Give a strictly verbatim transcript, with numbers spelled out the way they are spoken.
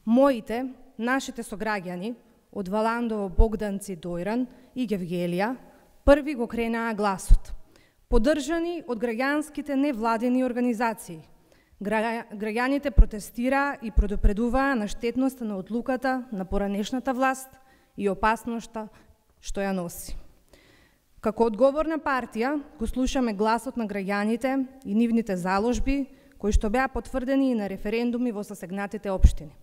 Моите, нашите сограѓани од Валандово, Богданци, Дојран и Гевгелија први го кренаа гласот, поддржани од граѓанските невладени организации. Граѓаните протестираа и предупредуваа на штетноста на одлуката на поранешната власт и опасноста што ја носи. Како одговорна партија го слушаме гласот на граѓаните и нивните заложби, кои што беа потврдени и на референдуми во засегнатите општини.